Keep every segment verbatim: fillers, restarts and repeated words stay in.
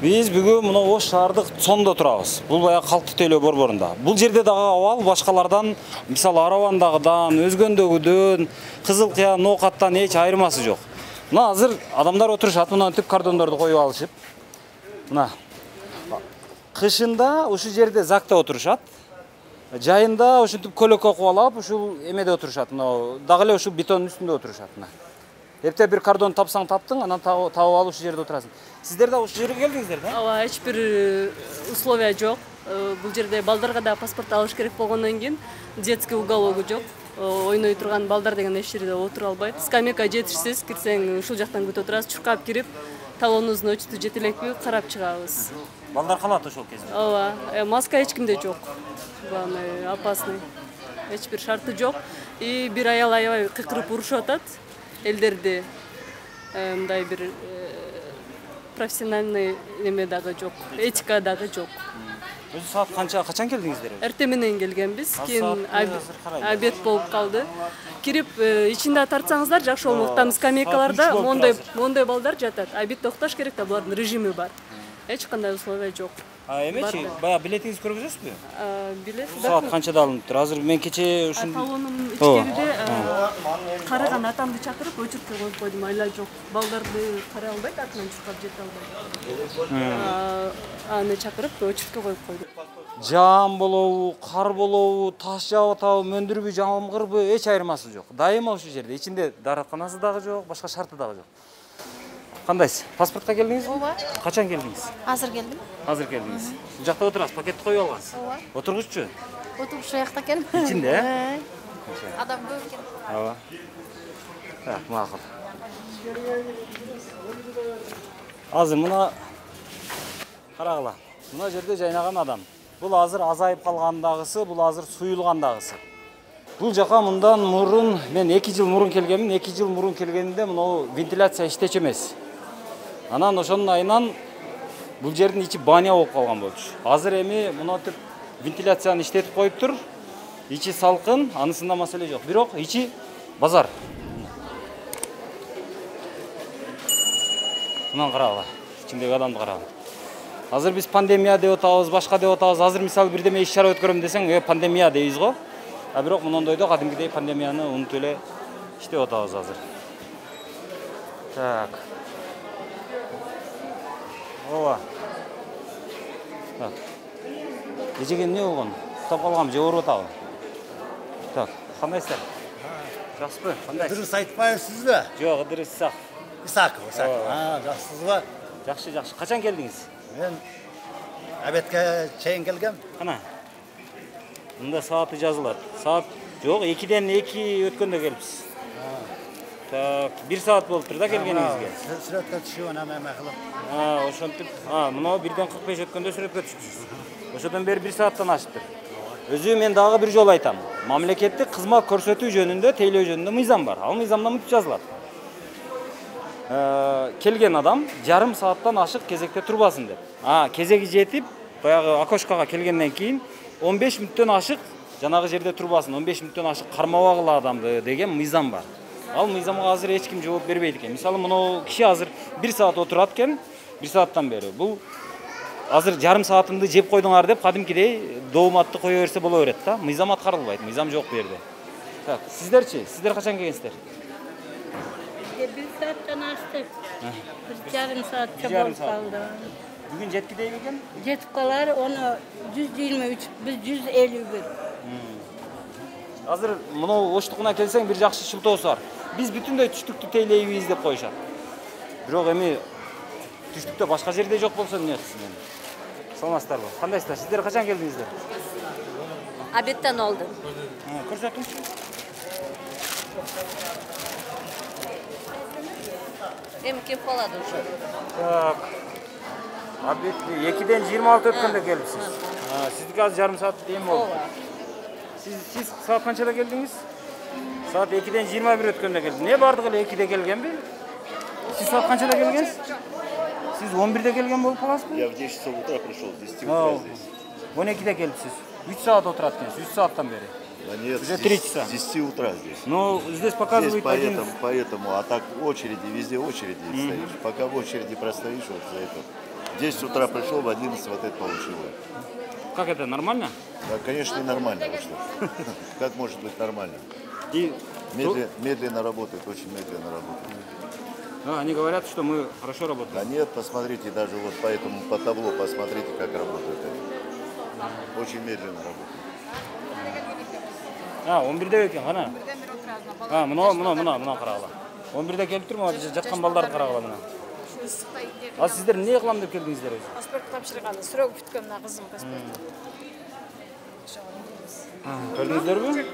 Биз бүгүн мына Ош шаардык цондо турабыз. Бул баягы калктуу тейлөө борборунда. Бул жерде дагы абал башкалардан, мисалы Аравандагыдан, Өзгөндөгүдөн, Кызыл Кыя, Ноокаттан эч айырмасы жок. Мына азыр адамдар отурушат, мынантип кардондорду коюп алышып. Мына кышында ушу жерде закта отурушат. Жайында ушинтип көлөккө кубалап, ушул эмеде отурушат. Мына дагы эле ушул бетондун үстүндө отурушат. Мына эптеп бир кардон тапсаң таптың, анан табып алып ушу жерде отурасың. Сиздер да ушул жерге келдиңиздер да? Ооба, эч бир условия жок. Бул жерде балдарга да паспорт алыш керек болгондон кийин детский угологу жок. Ойной турган балдар деген эч жерде отура албайт. Скамейка жетишсиз, кирсең ушул жактан күтүп отурасыз. Чуркап кирип, талонуңуздун өчүтү жете элекпи, карап чыгабыз. Балдар калат ошол кезде. Ооба, маска эч кимде жок. Главное, опасный. Эч бир шарты жок. И бир аял аябай кыйкырып урушуп атат. Элдерди мындай бир профессиональный неме дагы жок, этика дагы жок. Өзү саат канча, качан келдиңиздер? Эртең менен келгенбиз, кийин обед болуп калды. Кирип ичинде тартсаңыздар жакшы болмок. Там скамейкаларда моундай моундай балдар жатат. Обед токтош керек да, булардын режими бар. Эч кандай условия жок. А эмечи, баягы билетиңизди көргөзөсүзбү? Билет. Саат канчада алынып? Азыр мен кече ушун талонум ичкериде караган атамды чакырып өчүрткө коюп койдум. Айла жок. Балдарды карай албайт, артынан чуркап жете албайт. Аны чакырып өчүрткө коюп койдум. Жаам болобу, кар болобу, таш жаап атабы, мөндүрбү, жамгырбы, эч айырмасы жок. Дайыма ушул жерде. Ичинде дааратканасы дагы жок, башка шарты дагы жок. Кандайсыз? Паспортко келдиңизби? Ооба. Качан келдиңиз? Азыр келдим. Азыр келдиңиз. Бул жакта отурасыз, пакетти коюп алгансыз. Ооба. Отургуччу? Отуруп ушул жакта экен. Ичинде, э? Адам көп экен. Ооба. Так, макул. Азыр мына карагыла. Мына жерде жайнаган адам. Бул азыр азайып калгандагысы, бул азыр суюлгандагысы. Бул жака мындан мурун мен эки жыл мурун келгенмин. эки жыл мурун келгенде мына вентиляция иштечү эмес. Анан ошонун айынан бул жердин ичи баня болуп калган болчу. Азыр эми мынантип вентиляцияны иштетип коюптур. Ичи салкын, анысында маселе жок. Бирок ичи базар. Мындан карагыла. Ичиндеги адамды карагыла. Азыр биз пандемия деп атабыз, башка деп атабыз. Азыр мисалы бирдеме иш чара өткөрөм десең, э пандемия дейбиз го. А бирок мынандайда кадимгидей пандемияны унутуп эле иштеп атабыз азыр. Так. Ооба. Так. Эжеге эмне болгон? Уктап калгам, же ооруп атабы? Так, кандайсыздар? Жакшысызбы? Кандайсыз? Дұрыс айтпайсызбы? Жок, Ыдырыс Исаков. Исаков, Исаков. А, жақсысызбы? Жакшы, жакшы. Качан келдиңиз? Мен обедке чейин келгем. Кана. Мында сааты жазылат. Саат жок, экиден эки өткөндө келипсиз. Так, бир саат болуптур да келгениңизге. Сүрөткө түшүп анан эме кылып. А, ошентип, а, мына бирден кырк беш өткөндө сүрөткө түшүпсүз. Ошодон бери бир сааттан ашыптыр. Өзү мен дагы бир жолу айтам. Мамлекеттик кызмат көрсөтүү жөнүндө, тейлөө жөнүндө мыйзам бар. Ал мыйзамда мынтип жазылат. Келген адам жарым сааттан ашык кезекте турбасын деп. А, кезеги жетип, баягы окошкага келгенден кийин он беш мүнөттөн ашык жанагы жерде турбасын, он беш мүнөттөн ашык кармабагыла адамды деген мыйзам бар. Ал мыйзамга азыр эч ким жооп бербейт экен. Мисалы, мына киши азыр бир саат отурат экен, бир сааттан бери. Бул азыр жарым саатымды жеп койдуңар деп кадимкидей дооматты кое берсе боло берет да. Мыйзам аткарылбайт, мыйзам жок бу жерде. Так, сиздерчи? Сиздер качан келгенсиздер? Bir saatten açtık. Bir yarım saatçe bol kaldı. Bugün жетки дейби экен? Жетip kalar onu yüz yirmi üç, biz yüz elli bir. Азыр мына Оштукуна келсең бир жакшы шылтоосу бар. Биз бүтүндөй түштүктү тейлейбиз деп коюшат. Бирок эми түштүктө башка жерде жок болсо эмне кылсын эми? Саламатсыздарбы? Кандайсыздар? Сиздер качан келдиңиздер? Обедтен oldu. Көрсөтүңүзчү. Hem kim kaladı şu? Так. Обед экиден жыйырма алты өткөндө келипсиз. Сиздики азыр жарым саат эми болду. Сиз сиз саат канчада келдиңиз? Саат экиден жыйырма бир өткөндө келдиңиз. Не бардыгы эле экиде келгенби? Сиз саат канчада келгенсиз? Сиз он бирде келген болуп каласызбы? Я в десять часов утра пришел, с десяти утра здесь. он экиде келипсиз. үч саат отурат экенсиз, үч сааттан бери. Да нет, Уже три часа. С десяти утра здесь. Ну, здесь показывает здесь поэтому, один... поэтому, а так очереди, везде очереди mm-hmm. стоишь. Пока в очереди простоишь, вот за это. В десять утра пришел, в одиннадцать вот это получил. Как это, нормально? Да, конечно, ненормально. вы что. Как может быть нормально? И Медленно, медленно работает, очень медленно работает. да, они говорят, что мы хорошо работаем. Да нет, посмотрите, даже вот по этому, по табло, посмотрите, как работают они. Очень медленно работают. А, он бирде экен, кана? А, мына, мына, мына, мына карагыла. он бирде келип турмун, жаткан балдарды карагыла мына. А сиздер эмне кылам деп келдиңиздер өзү? Паспорт тапшырганы, суроо бүткөн мына кызым паспорт. Көрдүңүздөрбү?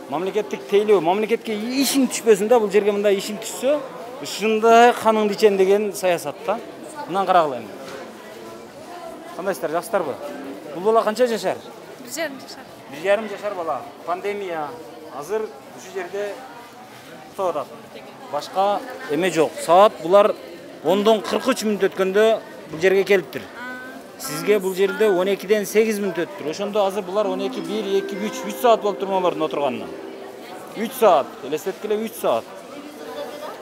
Мамлекеттик тейлөө, мамлекетке ишиң түшпөсүн да, бул жерге мындай ишиң түшсө, ушундай каныңды ичем деген саясат да. Мындан карагыла эми. Кандайсыздар, жакшысыздарбы? Бул бала канча жашар? Бир жарым жашар. Бир жарым жашар бала. Пандемия азыр ушул жерде топ атат. Башка эме жок. Саат булар ондон кырк үч мүнөт өткөндө бул жерге келиптир. Сизге бул жерде он экиден сегиз мүнөт өттүр. Ошондо азыр булар он эки, бир, эки, үч, үч саат болуп турмун алардын отурганына. үч саат, элестеткиле үч саат.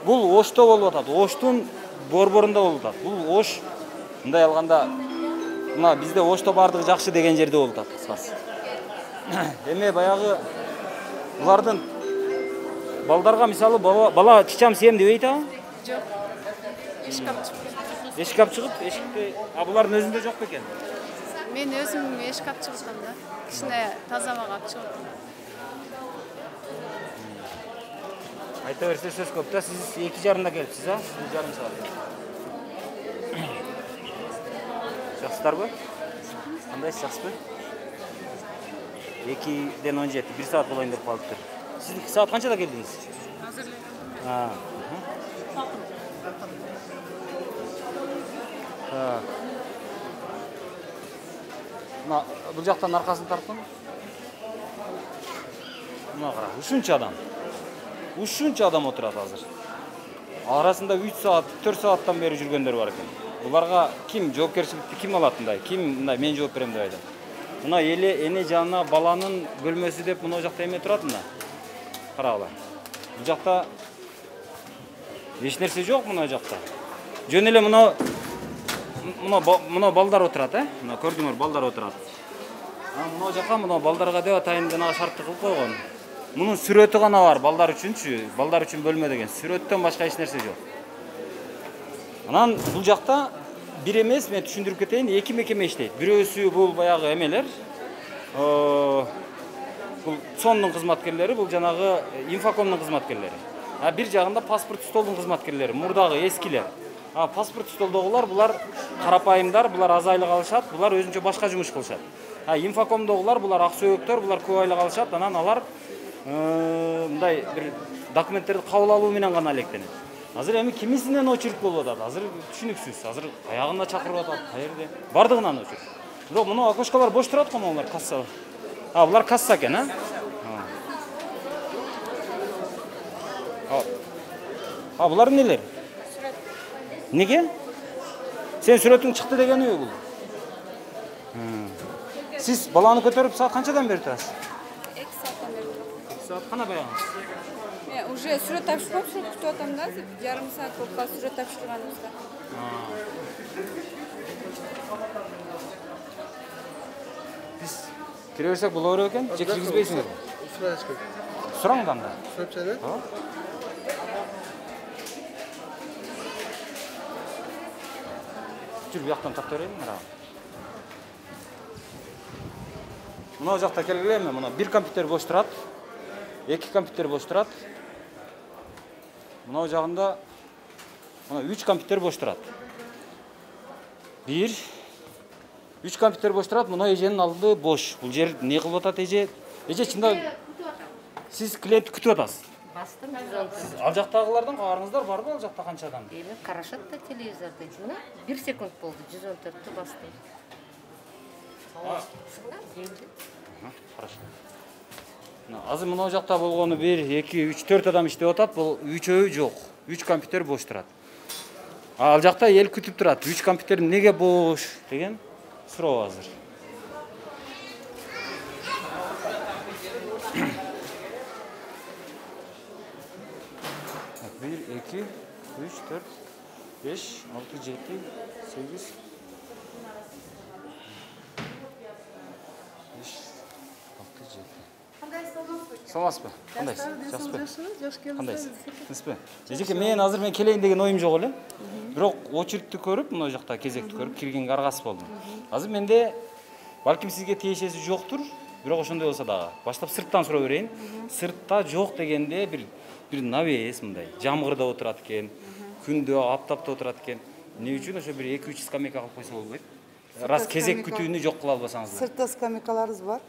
Бул Ошто болуп атат. Оштун борборунда болуп атат. Бул Ош мындай алганда мына бизде Ошто бардыгы жакшы деген жерде болуп атат. Кыскасы. Эме баягы булардын балдарга мисалы бала, бала чичам сем дебейт а? Жок. Эшик алып чыгып. Эшик алып чыгып, эшикте, а булардын өзүндө жок бекен? Мен өзүм эшик алып чыгышкам да. Кичине таза абага алып чыгып. Айта берсе сөз көп да, сиз эки жарымда келипсиз, а? бир жарым саат. Жакшысыздарбы? Кандайсыз, жакшысызбы? экиден он жети, бир саат болоюн деп калыптыр. Сиз саат канчада келдиңиз? Азыр эле. А. Так. Мына бул жактан аркасын тарткын. Мына кара, ушунча адам. Ушунча адам отурат азыр. Арасында үч саат, төрт сааттан бери жүргөндөр бар экен. Буларга ким жоопкерчиликти ким алат мындай? Ким мындай мен жооп берем деп айтат? Мына эле эне жанына баланын бөлмөсү деп мына жакта эме турат мына. Карагыла. Бул жакта эч нерсе жок мына жакта. Жөн эле мына мына мына балдар отурат, э? Мына көрдүңөр, балдар отурат. А мына жака мына балдарга деп атайын деген шартты кылып койгон. Мунун сүрөтү гана бар балдар үчүнчү, балдар үчүн бөлмө деген. Сүрөттөн башка эч нерсе жок. Анан бул жакта бир эмес, мен түшүндүрүп кетейин, эки мекеме иштейт. Бирөөсү бул баягы эмелер, бул цондун кызматкерлери, бул жанагы инфокомдун кызматкерлери. А бир жагында паспорт столдун кызматкерлери, мурдагы эскилер. А паспорт столдогулар булар карапайымдар, булар аз айлык алышат, булар өзүнчө башка жумуш кылышат. А инфокомдогулар булар ак сөйөктөр, булар көп айлык алышат, анан алар мындай бир документтерди кабыл алуу менен гана электенет. Азыр эми кимисинен очередь болуп атат. Азыр түшүнүксүз. Азыр аягында чакырып атат. Каерде? Бардыгынан очередь. Бирок мына окошкалар бош турат го, булар касса. А, булар касса экен, а? А. А, булар эмнелер? Сүрөт. Неге? Сен сүрөтүң чыкты дегени бул. Сиз баланы көтөрүп саат канчадан бери турасыз? эки сааттан бери турам. эки саат кана баягы. Мен уже сүрөт тапшырып, сүрөт күтүп атам да, жарым саат болуп калды сүрөт тапшырганыбызда. Биз кире берсек боло берет экен, же киргизбейсиңерби? Сураңыз анда. Сурап чейби? Жүр, бияктан тарта берейин, мына. Мына жакта келгилеби, мына бир компьютер бош турат. эки компьютер бош турат. Мына жагында мына үч компьютер бош турат. бир үч компьютер бош турат, мына эженин алды бош. Бул жер не кылып атат эже? Эже чында сиз клиент күтүп атасыз. Бастым жүз он төрт. Ал жактагылардан кабарыңыздар барбы? Ал жакта канча адам? Эми карашат да телевизордо. Мына бир секунд болду, жүз он төрттү бастым. Хорошо. Азыр мына жакта болгону бир, эки, үч, төрт адам иштеп атат. Бул үчөө жок. үч компьютер бош турат. Ал жакта эл күтүп турат. үч компьютер неге бош деген суроо азыр. бир, эки, үч, төрт, беш, алты, жети, сегиз. беш, алты, жети. Саламатсызбы? Кандай? Жакшысызбы? Кандайсыз? Тынчпы? Эжеке, мен азыр мен келейин деген оюм жок эле. Бирок очередти көрүп, мына жакта кезекти көрүп, киргенге аргасыз болдум. Азыр менде балким сизге тиешеси жоктур, бирок ошондой болсо дагы баштап сырттан сурап берейин. Сыртта жок дегенде бир бир навес мындай, жамгырда отурат экен, күндө, аптапта отурат экен. Эмне үчүн ошо бир эки үч скамейка кылып койсо болбойт? Раз кезек күтүүнү жок кыла албасаңыз. Сыртта скамейкаларыбыз бар.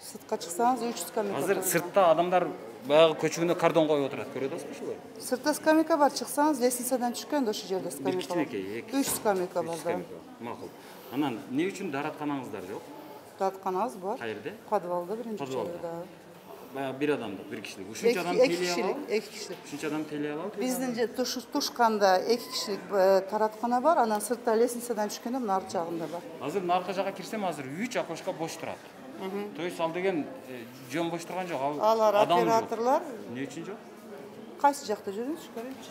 Сыртка чыксаңыз үч скамейка. Азыр сыртта адамдар баягы көчөгүнө кардон коюп отурат. Көрүп атасызбы ошолор? Сыртта скамейка бар, чыксаңыз лестницадан түшкөндө ошол жерде Бир скамейка бар. кичинекей, эки. үч скамейка бар да. Макул. Анан эмне үчүн дааратканаңыздар жок? Дааратканабыз бар. Каерде? Подвалда биринчи Подвалда. этажда. Баягы бир адамдык, бир кишилик. Ушунча адам эки тейлей кишилик, алабы? эки кишилик. Ушунча адам тейлей алабы? Биздин же тушканда эки кишилик тараткана бар, анан сыртта лестницадан түшкөндө мына арт жагында бар. Азыр мына арка жакка кирсем, азыр үч окошко бош турат. То есть ал деген жөн бош турган жок, ал Алар адам жок. операторлор Эмне үчүн жок? кайсы жакта жүрүңүз, көрөйүнчү.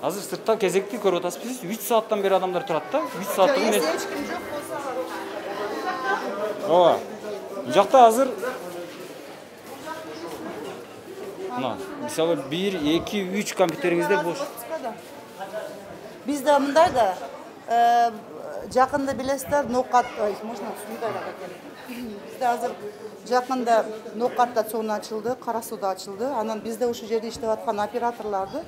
Азыр сыртта кезекти көрүп атасызбы? үч сааттан бери адамдар турат да. үч сааттын Эч мен. ким жок болсо Ооба. Бул жакта азыр мына, мисалы бир, эки, үч компьютериңизде бош. Бизде мындай да, жакында билесиздер, Ноокат, можно сундай экен. Бизде азыр жакында Ноокат стациону ачылды, Кара сууда ачылды. Анан бизде ушул жерде иштеп аткан операторлорду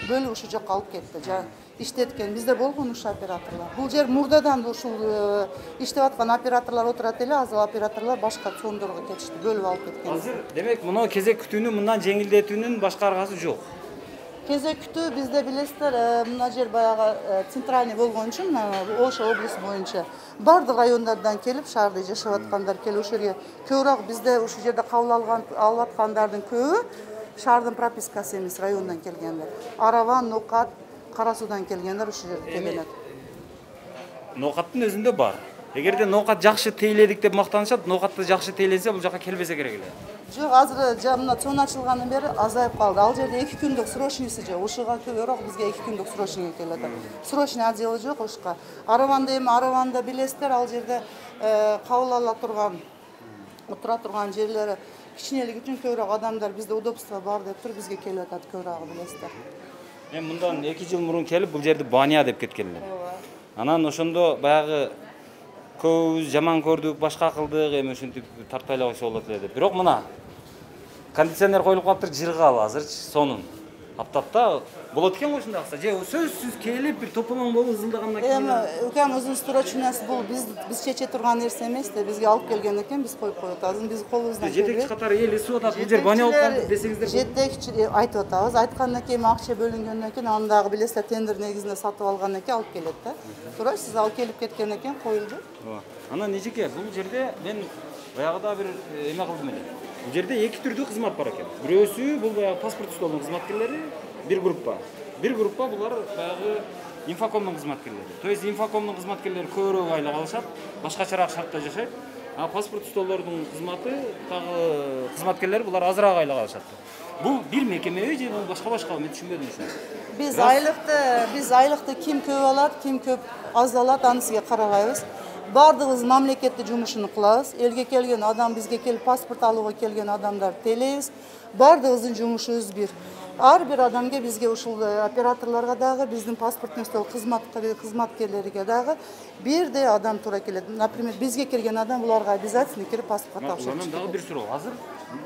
бөлүп ушул жакка алып кетти. Жана иштеткен, бизде болгон ушул операторлор. Бул жер мурдадан ушул иштеп аткан операторлор отурат эле, азыр операторлор башка цондорго кетишти, бөлүп алып кеткен. Азыр демек мына кезек күтүүнү мындан жеңилдетүүнүн башка аргасы жок. Кезек күтүү бизде билесиздер, мына жер баягы центральный болгон үчүн, Ош облусу боюнча бардык райондардан келип, шаарда жашап аткандар келип ушул жерге көбүрөөк бизде ушул жерде кабыл алган алып аткандардын көбү шаардын пропискасы эмес, райондан келгендер. Араван, Ноокат, Кара суудан келгендер ушул жерге келет. Ноокаттын өзүндө бар. Эгерде Ноокат жакшы тейледик деп мактанышат, Ноокатты жакшы тейленсе бул жака келбесе керек эле. Жок, азыр мына цон ачылгандан бери азайып калды. Ал жерде эки күндүк срочныйсы жок. Ушуга көбүрөөк бизге эки күндүк срочный келет. Срочный отделы жок ушка. Араванда эми Араванда билесиздер, ал жерде кабыл ала турган, отура турган жерлери кичинелик үчүн көбүрөөк адамдар бизде удобство бар деп туруп бизге келип атат көбүрөөк билесиздер. Мен мындан эки жыл мурун келип бул жерди баня деп кеткен элем. Анан ошондо баягы көбүбүз жаман көрдүк, башка кылдык, эми ушинтип тартпай эле койсо болот эле деп. Бирок мына кондиционер коюлуп калыптыр, жыргалы азырчы сонун. Аптапта болот экен го ушундай кылса. Же сөзсүз келип бир топомоң болуп ызылдагандан кийин. Эми укам өзүнүн срочныйсы бул биз биз чече турган нерсе эмес да, бизге алып келген экен, биз коюп коюп атабыз. Биз колубуздан келбейт. Жетекчи катары эл эсип атат, бул жер баня болуп калды десеңиздер. Жетекчи айтып атабыз. Айткандан кийин акча бөлүнгөндөн кийин аны дагы билесиздер, тендер негизинде сатып алгандан кийин алып келет да. Туура, сиз алып келип кеткенден кийин коюлду. Ооба. Анан эжеке, бул жерде мен баягыда бир эме кылдым эле. Бул жерде эки түрдүү кызмат бар экен. Бирөөсү бул баягы паспорт столдун кызматкерлери, бир группа. Бир группа булар баягы инфокомдун кызматкерлери. То есть инфокомдун кызматкерлери көбүрөөк айлык алышат, башкачараак шартта жашайт. А паспорт столдордун кызматы дагы кызматкерлери булар азыраак айлык алышат. Бул бир мекемеби же бул башка-башка, мен түшүнбөдүм ушуну. Биз айлыкты, биз айлыкты ким көп алат, ким көп аз алат, аны сизге карабайбыз. Бардыгыбыз мамлекеттик жумушуну кылабыз. Элге келген адам, бизге келип паспорт алууга келген адамдар тейлейбиз. Бардыгыбыздын жумушубуз бир. Ар бир адамга бизге ушул операторлорго дагы, биздин паспорттун стол кызматкерлерге дагы бирдей адам туура келет. Например, бизге келген адам буларга обязательно кирип паспорт тапшырып. Анан дагы бир суроо. Азыр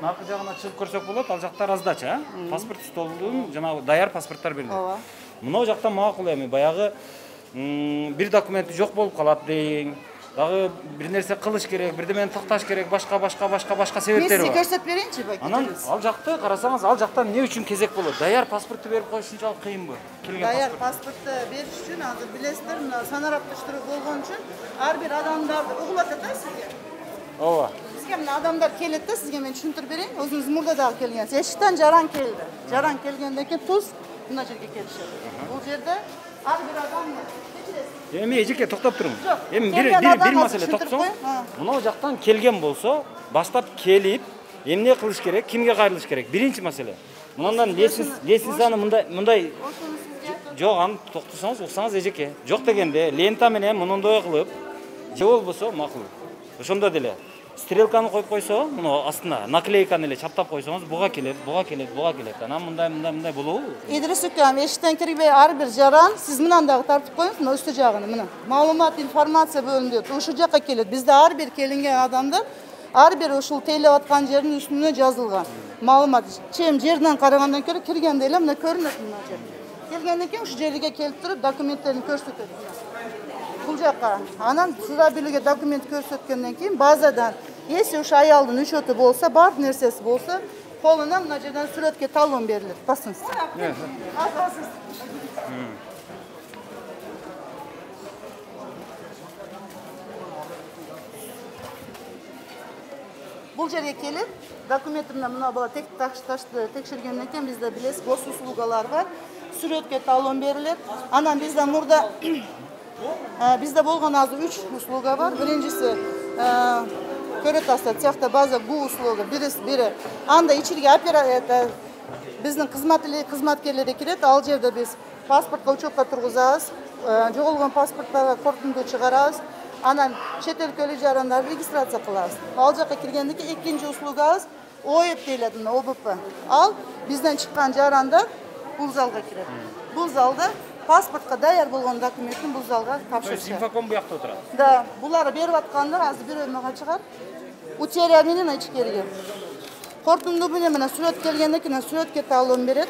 наркы жагына чыгып көрсөк болот, ал жакта раздача, паспорт столдун жанагы даяр паспорттор берилет. Ооба. Мына жакта макул эми баягы бир документи жок болуп калат дейин. Дагы бир нерсе кылыш керек, бирдемени такташ керек, башка башка башка башка себептери бар. Мен сизге көрсөтүп берейинчи бак. Анан ал жакта карасаңыз, ал жакта эмне үчүн кезек болот? Даяр паспорту берип коюш ушунчалык кыйынбы? Келген Даяр паспорту бериш үчүн азыр билесиздер, мына санарапташтыруу болгон үчүн ар бир адамдарды угулуп атат да сизге. Ооба. Бизге мына адамдар келет да, сизге мен түшүндүрүп берейин. Өзүңүз мурда дагы келгенсиз. Эшиктен жаран келди. Жаран келгенден кийин туз мына жерге келишет. Бул жерде ар бир адам Эми эжеке токтоп туруң. Эми бир келген бир адам маселе түшүндүрүп токсоң. коюң. Мына жактан келген болсо, баштап келип, эмне кылыш керек, кимге кайрылыш керек? Биринчи маселе. Мындан лестницаны мындай мындай ошону сизге жок, аны токтосоңуз уксаңыз эжеке. Жок дегенде лента менен мындай кылып, же болбосо макул. Ошондо деле стрелканы коюп койсо, муну астына наклейканы эле чаптап койсоңуз, буга келет, буга келет, буга келет. Анан мындай, мындай, мындай болобу? Идрис укам, эшиктен кирбей ар бир жаран сиз мынандагы тартып коюңуз, мына үстү жагын, мына. Маалымат, информация бөлүнүп, ушул жакка келет. Бизде ар бир келинген адамдар ар бир ушул тейлеп аткан жердин үстүнө жазылган. Маалымат чем жерден карагандан көрө киргенде эле мына көрүнөт мына жер. Келгенден кийин ушу жерге келип туруп документтерин көрсөтөт. Бул жакка. Анан суда билге документ көрсөткөндөн кийин базадан если ушу аялдын учету болсо, бар нерсеси болсо, колуна мына жерден сүрөткө талон берилет. Басыңыз. Азасыз. Бул жерге келип, документимде мына бала тек ташты текшергенден кийин бизде билесиз, госуслугалар бар. Сүрөткө талон берилет. Анан бизде мурда бизде болгон азыр үч услуга бар. Биринчиси көрөт аса цехта база гу услуга, бириси бири. Анда ичиге оператор биздин кызматкерлери кирет. Ал жерде биз паспортко учетко тургузабыз, жоголгон паспорттарга корутунду чыгарабыз. Анан чет өлкөлүк жарандар регистрация кылабыз. Ал жакка киргенден кийин экинчи услугабыз О Э П дейлет, О Б П. Ал бизден чыккан жарандар бул залга кирет. Бул залда паспортко даяр болгон документтин бул залга тапшырышат. Инфоком буякта отурат. Да, булар берип аткандар азыр бирөө мага чыгар. Утерия менен ичкерге. Корутунду менен мына сүрөт келгенден кийин сүрөткө талон берет.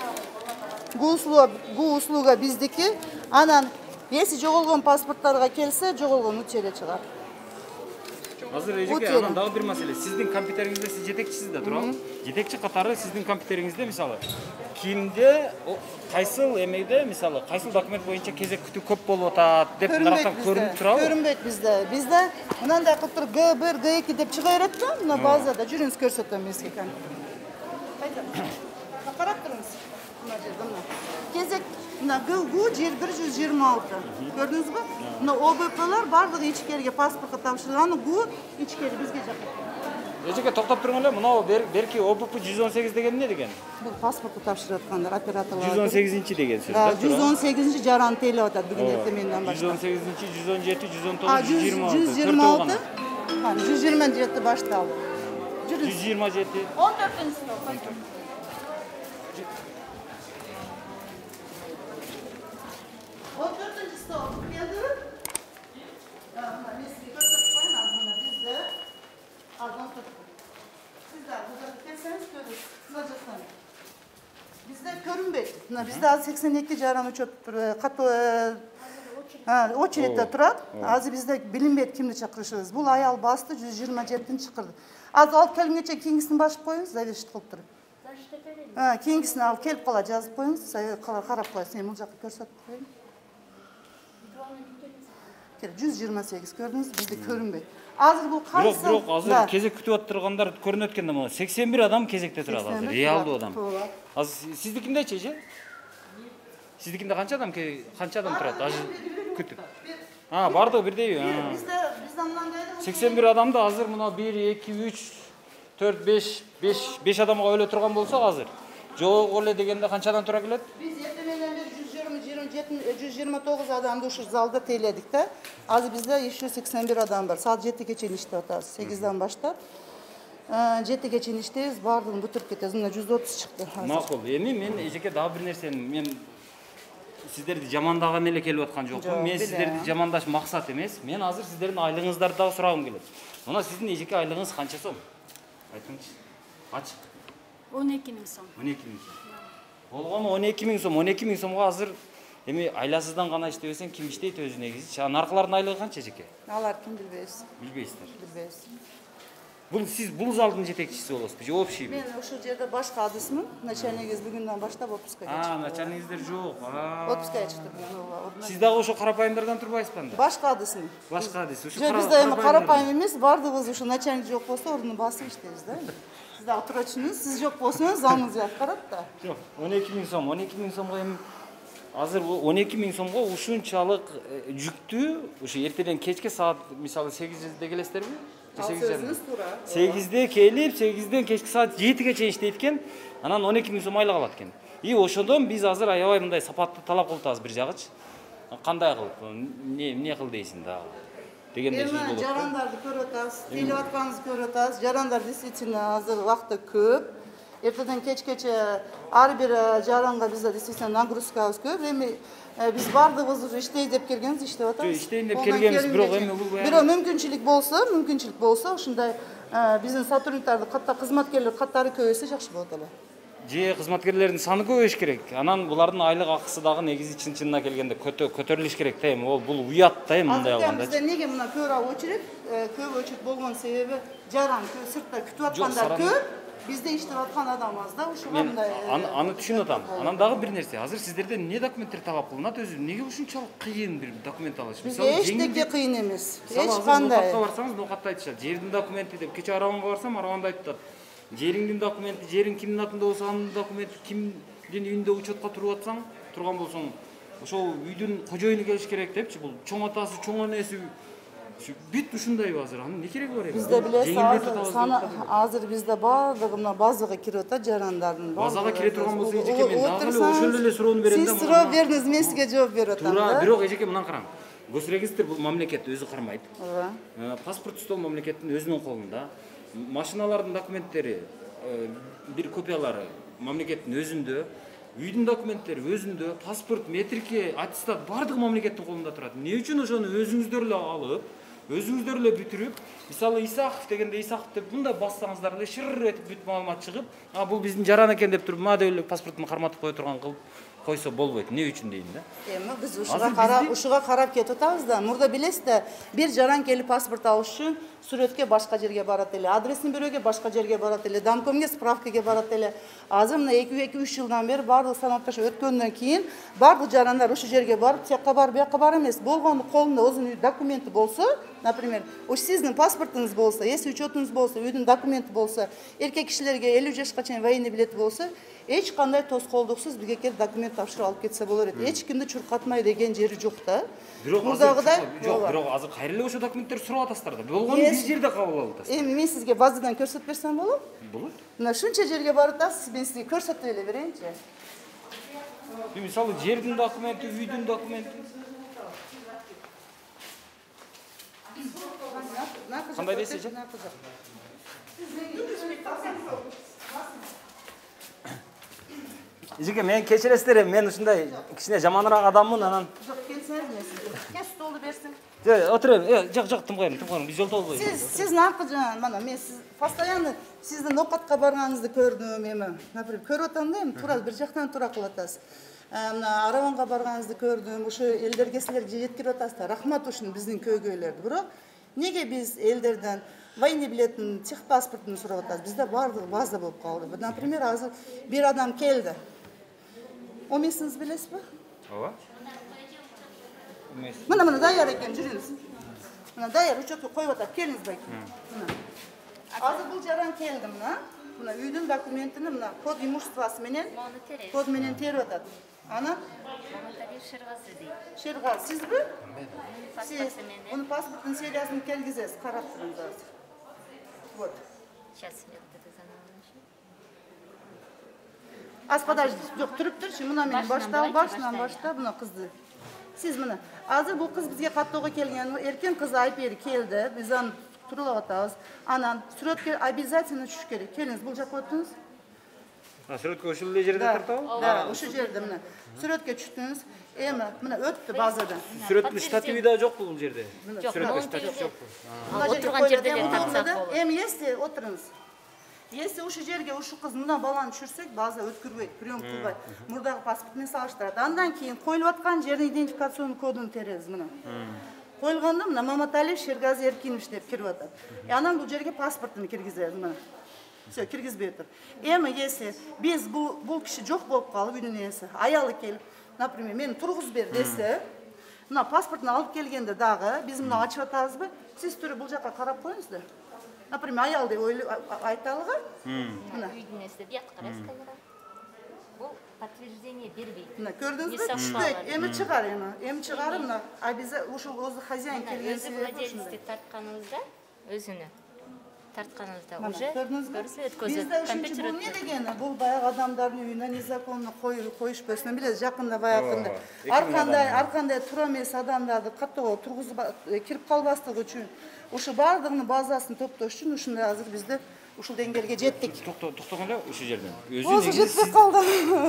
Гу услуга, гу услуга биздики. Анан если жоголгон паспорттарга келсе, жоголгон утерия чыгар. Азыр эжеке, анан дагы бир маселе. Сиздин компьютериңизде сиз жетекчисиз да, туурабы? Жетекчи катары сиздин компьютериңизде мисалы кимде, кайсыл эмеде, мисалы, кайсыл документ боюнча кезек күтүү көп болуп атат деп нарактан көрүнүп турабы? Көрүнбөйт бизде. Бизде мындай кылып туруп Г бир, Г эки деп чыга берет да, мына базада жүрүңүз көрсөтөм мен сизге. Кайда? Карап туруңуз. Мына жерде мына. Кезек мына Г жер бир жүз жыйырма алты. Көрдүңүзбү? Мына О Б Плар бардыгы ичкерге паспортко тапшырган, Г ичкери бизге жакка. Эжеке токтоп туруңар эле, мына берки О Б П жүз он сегиз деген эмне деген? Бул паспортто тапшырып аткандар операторлар. жүз он сегизинчи деген сөз да? жүз он сегизинчи жаран тейлеп атат бүгүн эртеменден баштап. жүз он сегизинчи, жүз он жети, жүз он тогуз, жүз жыйырма алты. жүз жыйырма алты. Ha, жүз жыйырма жети башталды. жүз жыйырма жети. он төртүнчү стоп. он төртүнчү стоп. Келдиби? Мына мен сизге көрсөтүп коеюн, мына бизде азон төрт. Сиздар бузда келсеңиз көрүңүз. Мына жактан. Бизде көрүнбөйт. Мына бизде азыр сексен эки жаран учет катуу очередде турат. Азыр бизде билинбейт кимди чакырышыбыз. Бул аял басты жүз жыйырма жетинчи чакырды. Азыр алып келгенче кийинкисин башып коюңуз, завет кылып туруп. Ha, keyingisini al, kelip kala жазып koyunuz, karap koyasın, hem olacak görsatып koyun. жүз жыйырма сегиз көрдünüz, bizde көрünbey. Azır bu kaysa... Yok, yok, azır kezek kütüp attırganlar көрün ötkende ama seksen bir adam kezekte turadi azır, realdi adam. Azır, sizdikinde çeşe? Sizdikinde kança adam, kança adam turadi, azır kütüp? Ha, bardı birdeyi. Bizde, bizden mınandaydı. seksen bir adam da hazır, buna bir, iki, üç, dört, beş, beş adamga öyle turgan bolsa azır. Жоқ оле дегенде канчадан тура келет? Биз эртеменден бери жүз жыйырма жыйырма жети жүз жыйырма тогуз адамды ушу залда тейледик да. Азыр бизде еще сексен бир адам бар. Саат жетиге чейин иштеп атабыз. сегизден баштап жетиге чейин иштейбиз, баардыгын бүтүрүп кетебиз. Мына жүз отуз чыкты. Макул. Эми мен эжеке дагы бир нерсени мен сиздерди жамандаган эле келип аткан жокмун. Мен сиздерди жамандаш максат эмес. Мен азыр сиздердин айлыгыңыздарды дагы сурагым келет. Мына сиздин эжеке айлыгыңыз канча сом? Айтыңызчы. Ачык. он эки миң сом. он эки миң сом. Болгону он эки миң сом, он эки миң сомго азыр эми айласыздан гана иштебесең ким иштейт өзү негизи? Наркылардын айлыгы канча эжеке? Алар ким билбейбиз. Билбейсиздер. Билбейбиз. Бул сиз бул залдын жетекчиси болосузбу же общийби? Мен ушул жерде башка адысмын. Начальнигиз бүгүндөн баштап отпускага чыкты. А, начальнигиздер жок. Отпускага чыкты бүгүн. Сиз дагы ошо карапайымдардан турбайсызбы анда? Башка адысмын. Башка адыс. Ушу Жок, бизде эми карапайым эмес, бардыгыбыз ушу начальник жок болсо ордуну басып иштейбиз да. Siz de oturuşunuz, siz yok bolsanız zalınız yakkarat da. Yok, on эки миң сом, он эки миң сомго эми азыр он эки миң сомго ушунчалык жүктүү, ушу эртеден кечке саат мисалы сегизде келесиздерби? Сөзүңүз туура. сегизде келип, сегизден кечки саат жетиге чейин иштейт экен, анан он эки миң сом айлык алат экен. И ошондон биз азыр аябай мындай сапаттуу талап кылып атабыз бир жагычы. Кандай кылып, эмне эмне кыл дейсиң дагы дегендей сөз болот. Жарандарды көрүп атабыз, тейлеп атканыңызды көрүп атабыз. Жарандар действительно азыр убакта көп. Эртеден кечкече ар бир жаранга бизде действительно нагрузкабыз көп. Эми биз бардыгыбыз уже иштейт деп келгенбиз, иштеп атабыз. Иштейин деп келгенбиз, бирок эми бул бирок мүмкүнчүлүк болсо, мүмкүнчүлүк болсо ушундай биздин сотрудниктарды катта кызматкерлер катары көбөйсө жакшы болот эле. Же кызматкерлердин саны көбөйүш керек. Анан булардын айлык акысы дагы негизи чын-чынына келгенде көтөрүлүш керек да эми. Ол бул уят да эми мындай алганда. Бизде неге мына көп очередь, көп очередь болгон себеби жаран сыртта күтүп аткандар көп. Бизде иштеп аткан адам аз да, ушуга мындай. Аны түшүнүп атам. Анан дагы бир нерсе, азыр сиздерден эмне документтер талап кылынат өзү? Эмнеге ушунчалык кыйын бир документ алыш? Мисалы, эчтеке кыйын эмес. Эч кандай. Нокатка барсаңыз, нокатта айтышат. Жердин документи деп, кече Араванга барсам, Араванда айтышат. Жериңдин документи, жериң кимдин атында болсо, анын документи, кимдин үйүндө учетка туруп атсаң, турган болсоң, ошол үйдүн кожоюну келиш керек депчи. Бул чоң атасы, чоң энеси бүт ушундайбы азыр? Анын эмне кереги бар эми? Бизде билесиз, азыр азыр бизде баардыгы мына базага кирип атат жарандардын. Базага кире турган болсо, эжеке мен дагы эле ошол эле суроону берем да. Сиз суроо бериңиз, мен сизге жооп берип атам да. Туура, бирок эжеке мындан караң. Госрегистр бул мамлекет өзү кармайт. Ооба. Паспорт стол мамлекеттин өзүнүн колунда. Машиналардын документтери, бир копиялары мамлекеттин өзүндө, үйдүн документтери өзүндө, паспорт, метрики, аттестат бардыгы мамлекеттин колунда турат. Эмне үчүн ошону өзүңүздөр эле алып, өзүңүздөр эле бүтүрүп, мисалы Исахов дегенде Исахов деп мындай бассаңыздар эле шыр этип бүт маалымат чыгып, а бул биздин жаран экен деп туруп, ма деп эле паспортун карматып кое турган кылып койсо болбойт. Эмне үчүн дейм да? Эми биз ушуга карап, ушуга карап кетип атабыз да. Мурда билесиз да, бир жаран келип паспорт алыш үчүн сүрөткө башка жерге барат эле, адресин берүүгө башка жерге барат эле, домкомго справкага барат эле. Азыр мына эки үч жылдан бери бардык санатташ өткөндөн кийин бардык жарандар ушу жерге барып, тияққа барып, бияққа бар эмес. Болгону колунда өзүнүн документи болсо, например, уш сиздин паспортуңуз болсо, эс учетуңуз болсо, үйдүн документи болсо, эркек кишилерге элүү жашка чейин военный билети болсо, эч кандай тоскоолдуксуз бизге келип документ тапшырып алып кетсе болор эт. Эч кимди чуркатмай деген жери жок да. Бирок мурдагыдай жок, бирок азыр кайра эле ошо документтерди сурап атасыздар да. Болгону биз жерде кабыл алып атасыз. Эми мен сизге базадан көрсөтүп берсем болот? Болот. Мына ушунча жерге барып атасыз, мен сизге көрсөтүп эле берейинчи. Мисалы жердин документи, үйдүн документи. Кандай дейсиз? Эжеке, мен кечиресиздер, мен ушундай кичине жаманыраак адаммын, анан. Жок, келсеңиз мен сизге. Кел столду берсиң. Жок, отурайм. Э, жок, жок, тым коюм, тым коюм. Биз жолдо болбойбуз. Сиз, сиздин аркы жана мана мен сиз постоянно сиздин ноокатка барганыңызды көрдүм, эми, например, көрүп атам да, эми туура бир жактан туура кылып атасыз. Мына Араванга барганыңызды көрдүм, ушу элдерге силер жеткирип атасыздар. Рахмат ушун биздин көйгөйлөрдү. Бирок неге биз элдерден военный билетин, техпаспортун сурап атабыз? Бизде бардыгы база болуп калды. Например, азыр бир адам келди. он месяцинизди билесизби? Ооба. Мына мына даяр экен, жүрүңүз. Мына даяр учетко коюп атат, келиңиз байке. Мына. Азыр бул жаран келди мына. Мына үйдүн документини мына код имуществосы менен, код менен терип атат. Ана Шергази дейт. Шерга, сизби? Сиз муну паспорттун сериясын келгизесиз, карап туруңуз азыр. Вот. Сейчас я вот это заново. Аз подожди, жок, туруп турчу, мына мен баштап, башынан баштап, мына кызды. Сиз мына, азыр бул кыз бизге каттоого келген, эркен кыз айпери келди, биз аны турулап атабыз. Анан сүрөткө обязательно түшүш керек. Келиңиз, бул жакка өтүңүз. А сүрөткө ушул эле жерде тартабы? Да, ушул жерде мына. Сүрөткө түштүңүз. Эми мына өттү базадан. Сүрөттүн штативи да жокпу бул жерде? Сүрөткө штатив жокпу. Отурган жерде эле тартсак болот. Эми если отуруңуз. Если ушу жерге ушу кыз мына баланы түшүрсөк, база өткүрбөйт, прием кылбайт. Мурдагы паспорт менен салыштырат. Андан кийин коюлуп аткан жердин идентификацион кодун теребиз мына. Коюлгондо мына Маматалиев Шергази Эркинович деп кирип атат. И анан бул жерге паспортун киргизебиз мына. Все, киргизбей тур. Эми если биз бул бул киши жок болуп калып, үйдүн ээси, аялы келип, например, мени тургузуп бер десе, мына паспортун алып келгенде дагы биз мына ачып атабызбы? Сиз туруп бул жакка карап коюңуз да. Например, аял деп айталыгы. Мына үйдүн ээси деп карайсыз камера. Бул подтверждение бербейт. Мына көрдүңүзбү? Түшпөйт. Эми чыгар эми. Эми чыгар мына. А биз ушул өзү хозяин келген себеби ушундай. Өзү владелец тартканыңызда өзүнө тартканыбызда Мына, уже көрдүңүзбү? көрүсү өткөзөт. Бизде ушунчу Компьютер бул эмне өткөзөт. дегени? Бул баягы адамдардын үйүнө незаконно коюшпосун билесиз, жакында баягында. Ооба, эки Ар миң кандай, адам. ар кандай туура эмес адамдарды каттоого тургузуп кирип калбастыгы үчүн ушу баардыгынын базасын топтош үчүн ушундай азыр бизде ушул деңгээлге жеттик. Токтогон эле ушул жерден. Өзү Болсо негизи жетпей сиз- калды.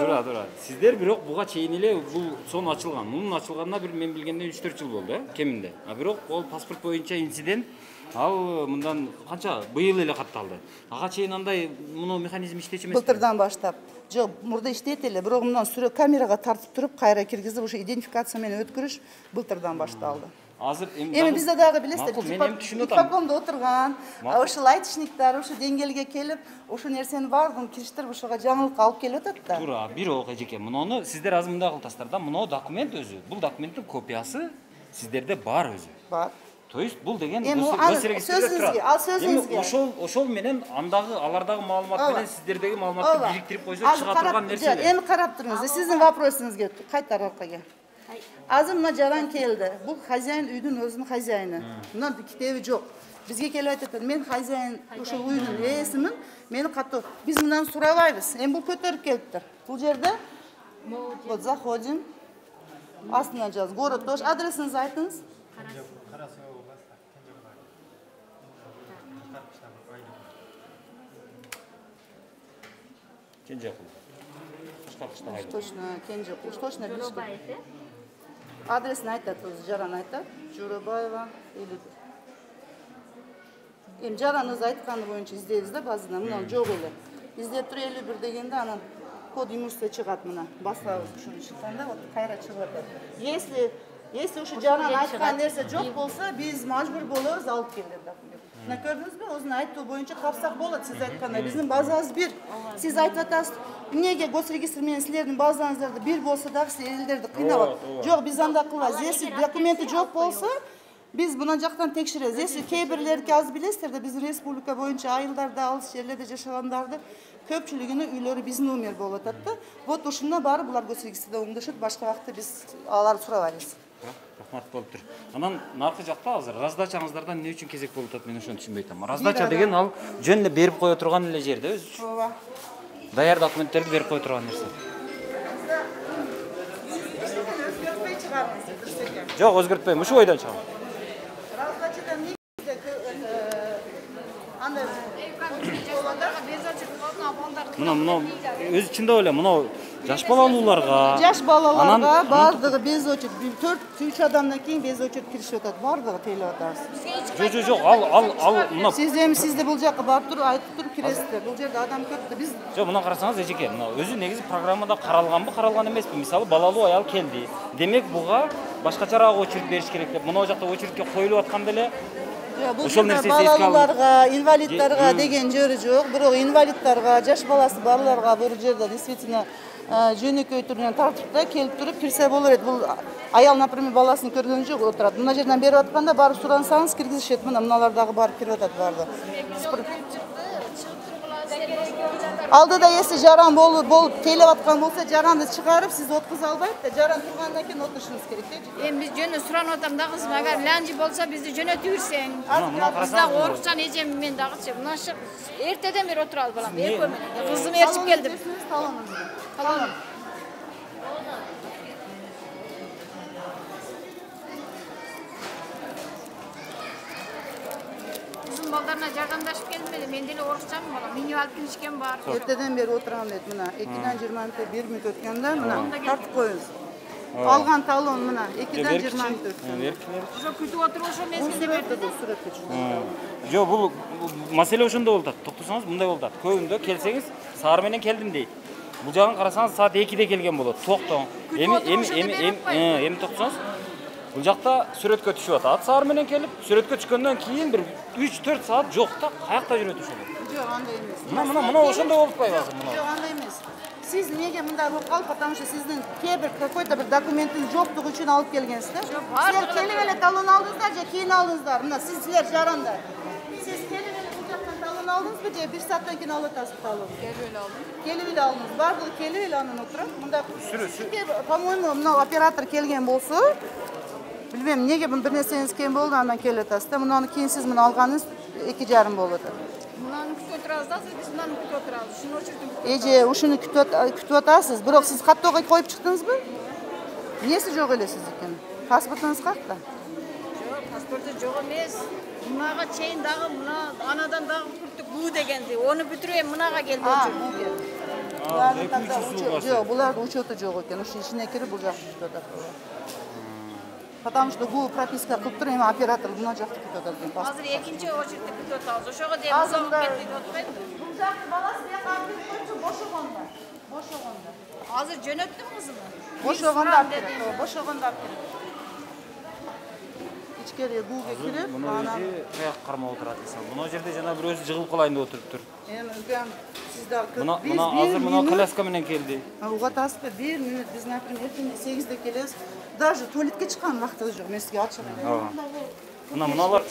Тура, тура. Сиздер бирок буга чейин эле бул сон ачылган. Мунун ачылганына бир мен билгенде үч төрт жыл болду, э, кеминде. А бирок ол паспорт боюнча инцидент ал мындан канча быйыл эле катталды. Ага чейин андай муну механизм иштечү эмес. Былтырдан баштап. Жок, мурда иштейт эле, бирок мындан сүрөт камерага тартып туруп, кайра киргизип, ушу идентификация менен өткөрүш былтырдан башталды. Азыр Эми бизде дагы билесиздер, Макул, мен эми түшүнүп атам. иппокомдо отурган, ушул айтышниктер ушу деңгээлге келип, ушу нерсени баардыгын кириштирип ушуга жаңылыкка алып келип атат да. Туура, бирок эжеке, муну сиздер азыр мындай кыласыздар да, муну документ өзү. Бул документтин копиясы сиздерде бар өзү. Бар. То есть бул деген Эми гос- ал госрегистрде сөзүңүзгө, турат. ал сөзүңүзгө. Эми ошол ошол менен андагы алардагы маалымат Ооба. менен сиздердеги маалыматты бириктирип койсо Азыр чыга карап- турган жок, нерсе. Эми карап туруңуз, сиздин вопросуңузга кайтар аркага. Азыр мына жаран келди. Бул хозяин үйдүн өзүнүн хозяйыны. Мына китеби жок. Бизге келип айтат, мен хозяин ушул үйдүн ээсимин, мени катуу. Биз мындан сурабайбыз. Эми бул көтөрүп келиптир. Бул жерде вот заходим. Астына жаз. Город тоже. Адресиңизди айтыңыз. Кенжекул. Кышкартышта айдым. Точно, Кенжекул. Точно билишти. Жоробаев, э? Адресин айтат, өзү жаран айтат. Жоробаева или Эми жаран өзү айтканы боюнча издейбиз да базадан. Мына жок эле. Издеп туруп элүү бир дегенде анан код имущества чыгат мына. Басабыз ушуну чыкканда вот кайра чыгып атат. Если если ушу жаран айткан нерсе жок болсо, биз мажбур болорбуз алып кел деп документ. Мына көрдүңүзбү? Өзүнүн айттуу боюнча тапсак болот, сиз айткандай. Биздин базабыз бир. Сиз айтып атасыз, эмнеге госрегистр менен силердин базаңыздарды бир болсо дагы сиз элдерди кыйнап. Жок, биз андай кылбайбыз. Если документи жок болсо, биз мына жактан текшеребиз. Если кээ бирлерди азыр билесиздер да, биздин республика боюнча айылдарда, алыс жерлерде жашагандарды көпчүлүгүнүн үйлөрү биздин номер болуп атат да. Вот ушунда баары булар госрегистрде оңдошот, башка вакытта биз аларды сурабайбыз. Рахмат болуптур. Анан наркы жакта азыр раздачаңыздардан эмне үчүн кезек болуп атат, мен ошону түшүнбөй атам. Раздача деген ал жөн эле берип кое турган эле жерде өзү. Ооба. Даяр документтерди берип кое турган нерсе. Өзгөртпөй чыгарыңыз. Жок, өзгөртпөйм. Ушу бойдон чыгам. Раздачадан негизде андай Мына мына өзү чындап эле мына жаш балалууларга, жаш балаларга анан- баардыгы без очередь төрт үч адамдан кийин без очередь киришип атат. Баардыгы тейлеп атабыз. Жок, жок, жок, ал ал ал мына Сиз эми сизде бул жакка барып туруп айтып туруп киресиздер. Бул жерде адам көп да. Биз жок, мына карасаңыз эжеке, мына өзү негизи программада каралганбы, каралган эмеспи? Мисалы балалуу аял келди. Демек буга башкачараак очередь бериш керек деп. Мына жакта очередке коюлуп атканда эле бул ошол жерде нерсени эске алып. балаларга, инвалиддарга деген жөрү жок. Бирок инвалиддарга, жаш баласы барларга бул жерде действительно жөнөкөй түрүнөн тартипта келип туруп кирсе болор эди. Бул аял, например, баласын көргөн жок, отурат. Мына жерден берип атканда барып сурансаңыз киргизишет. Мына мыналар дагы барып кирип атат барды. Алдыда если жаран болуп болуп тейлеп аткан болсо, жаранды чыгарып, сиз откуза албайт да, жаран тургандан кийин отурушуңуз керек да. Эми биз жөнү суранып атам да кызым, агар ланжи болсо бизди жөнөтүп берсең. мына Биз карасаңыз. дагы орукчан эжем мен дагычы. Мына шы эртеден бери отурабыз балам, экөө менен. Кызым ээрчип келдим. Талон. Кызым балдарына жардамдашып келдим эле. Мен деле орукчанмын балам. Минималдык киришкем бар. Эртеден бери отурам дейт. Мына экиден жыйырма мүнөт бир мүнөт өткөндө мына тартып коюңуз. Алган талон мына экиден жыйырма мүнөт өткөн. Уже күтүп отуруп ошо мезгилде берди. Сүрөткө чыгып. Жок, бул маселе ошондо болуп атат. Токтосоңуз мындай болуп атат. Көбүндө келсеңиз, саар менен келдим дейт. Бул жагын карасаңыз саат экиде келген болот. Токтоң. Эми эми эми эми эми токтосоңуз, бул жакта сүрөткө түшүп атат. Саар менен келип, сүрөткө түшкөндөн кийин бир үч төрт саат жок да, каякта жүрөт ошол. Жок, андай эмес. Мына мына мына ошондой болуп атпайбы азыр мына? Жок, андай эмес. Сиз эмнеге мындай болуп калып, потому что сиздин кээ бир какой-то бир документин жоктугу үчүн алып келгенсиз да. Силер келип эле талон алдыңыздар же кийин алдыңыздар? Мына сиз силер жарандар. Сиз келип эле бул жактан талон алдыңызбы же бир сааттан кийин алып атасыз талон? Келип эле алдым. Келип эле алдыңыз. Бардыгы келип эле анан отурат. Мында по-моему, мына оператор келген болсо, Билбейм, эмнеге бир нерсеңиz кем болду, андан келип атасыз да. Мунаны кийин сиз муну алганыңыз эки жарым болуп атат. Мынаны күтүп отурабыз да, биз мынаны күтүп отурабыз. Ушуну очередин Эже, ушуну күтүп атасыз, бирок сиз каттоого коюп чыктыңызбы? Эмнеси жок эле сиздикин? Паспортуңуз какта? Жок, паспорту жок эмес. Мынага чейин дагы мына анадан дагы күттүк буу дегенди. Ону бүтүрүп мынага келди очу. Жок, булардын учету жок экен. Ушу ичине кирип бул жакты күтүп атат. Потому что бул прописка кылып туруп, эми оператор мына жакты күтүп атат экен. Азыр экинчи очередти күтүп атабыз. Ошого дейин узап кетти деп атпайбы? Бул жакты баласы бияка алып келип койчу, бошогондо. Бошогондо. Азыр жөнөттүм кызымы. Бошогондо алып келет. Бошогондо алып келет. Ичкери гууга кирип, анан каяк кармап отурат мисалы. Мына жерде жана бир өзү жыгылып калайын деп отуруптур. Эми үгөн сиз дагы Мына мына азыр мына коляска менен келди. Угатасызбы? бир мүнөт биз, например, эртең сегизде келебиз. Даже туалетке чыккан убактыбыз жок. Мен сизге ачык айтайын. Мына мыналар